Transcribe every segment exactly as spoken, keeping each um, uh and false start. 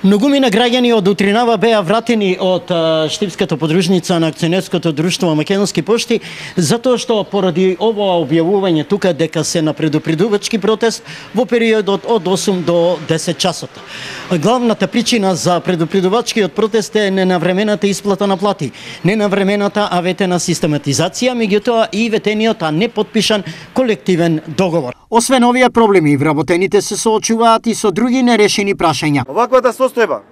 Многумина граѓани од утринава беа вратени од Штипската подружница на акционерското друштво Македонски пошти, затоа што поради ова објавување тука дека се на предупредувачки протест во периодот од осум до десет часот. Главната причина за предупредувачкиот протест е ненавремената исплата на плати, ненавремената аветена систематизација, меѓутоа и ветениот а не потпишан колективен договор. Освен овие проблеми, вработените се соочуваат и со други нерешени прашања. Оваквата состојба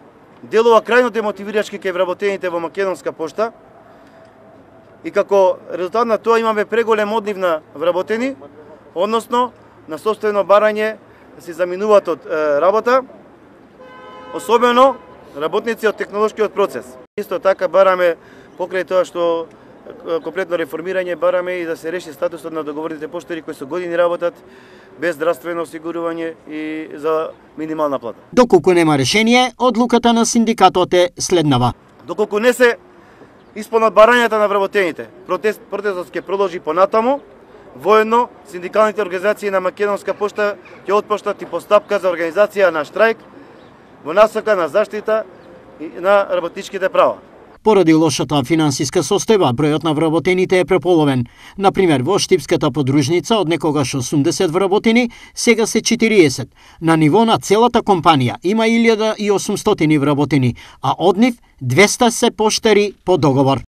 делува крајно демотивирачки кај вработените во Македонска пошта и како резултат на тоа имаме преголем одлив на вработени, односно на состојано барање да се заминуваат од е, работа, особено работници од технолошкиот процес. Исто така бараме покрај тоа што комплетно реформирање, бараме и да се реши статусот на договорните поштари кои со години работат без здравствено осигурување и за минимална плата. Доколку нема решение, одлуката на синдикатот е следнава. Доколку не се исполнат барањата на вработените, протест, протестот ќе продолжи понатаму. Воедно, синдикалните организации на Македонска пошта ќе отпоштат и постапка за организација на штрајк во насока на заштита на работничките права. Поради лошата финансиска состојба, бројот на вработените е преполовен. Например, во Штипската подружница од некогаш осумдесет вработени, сега се четириесет. На ниво на целата компанија има илјада и осумстотини вработени, а од нив двеста се поштари по договор.